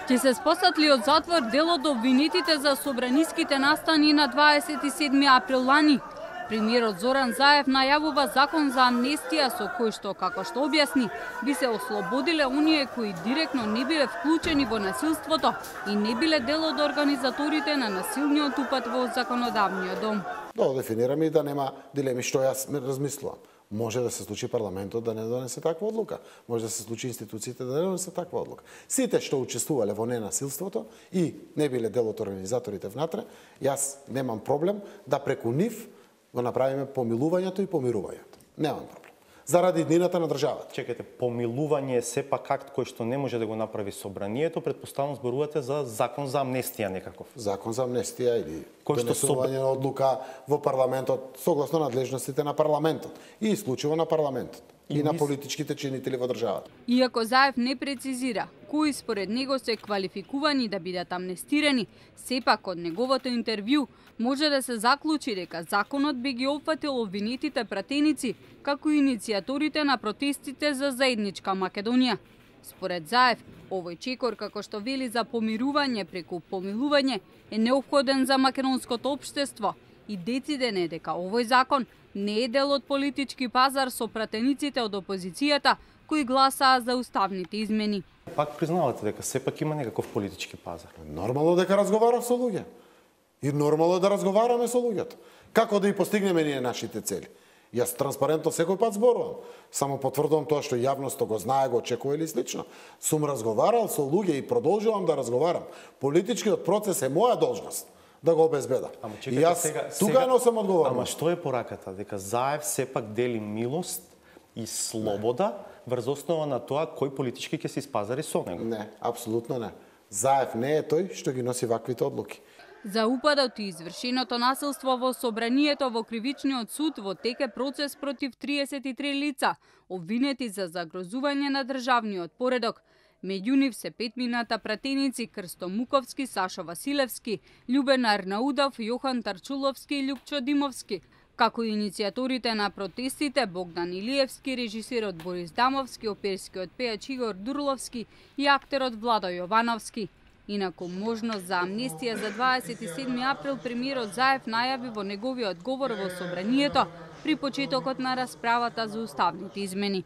Ќе се спосатли од затвор дел од обвинетите за собраниските настани на 27 април лани. Премиерот Зоран Заев најавува закон за амнестија со кој што, како што објасни, би се ослободиле оние кои директно не биле вклучени во насилството и не биле дел од организаторите на насилниот упад во законодавниот дом. Да дефинираме и да нема дилеми што јас размислувам. Може да се случи парламентот да не донесе таква одлука. Може да се случи институциите да не донесе таква одлука. Сите што учествувале во ненасилството и не биле дел од организаторите внатре, јас немам проблем да преку нив го направиме помилувањето и помирувањето. Немам проблем. Заради иднината на државата. Чекайте, помилување е сепак акт кој што не може да го направи собранието, претпоставам зборувате за закон за амнестија некаков. Закон за амнестија или донесување на одлука во парламентот согласно надлежностите на парламентот и исклучиво на парламентот и на политичките чинители во државата. Иако Заев не прецизира кои според него се квалификувани да бидат амнестирани, сепак од неговото интервју може да се заклучи дека законот би ги опфатил обвинетите пратеници, како и иницијаторите на протестите за заедничка Македонија. Според Заев, овој чекор, како што вели за помирување преку помилување, е неопходен за македонското општество и дециден е дека овој закон не е дел од политички пазар со пратениците од опозицијата кои гласаа за уставните измени. Пак признавате дека сепак има некаков политички пазар. Нормално дека разговарав со луѓе. И нормално е да разговараме со луѓето. Како да и постигнеме ние нашите цели? Јас транспарентно секој пат зборувам. Само потврдувам тоа што јавноста го знае, го очекува или слично. Сум разговарал со луѓе и продолжувам да разговарам. Политичкиот процес е моја должност да го обезбедам. И јас тука носам одговорност. Ама што е пораката? Дека Заев сепак дели милост и слобода врз основа на тоа кој политички ќе се испазари со него? Не, апсолутно не. Заев не е тој што ги носи ваквите одлуки. За упадот и извршеното насилство во собранието во кривичниот суд во тек е процес против 33 лица, обвинети за загрозување на државниот поредок. Меѓу нив се петмината пратеници Крсто Муковски, Сашо Василевски, Љубен Арнаудов, Јохан Тарчуловски и Љупчо Димовски, како и иницијаторите на протестите Богдан Илиевски, режисерот Борис Дамовски, оперскиот пејач Игор Дурловски и актерот Владо Јовановски. Инаку можност за амнестија за 27 април премиерот Заев најави во неговиот говор во собранието при почетокот на расправата за уставните измени.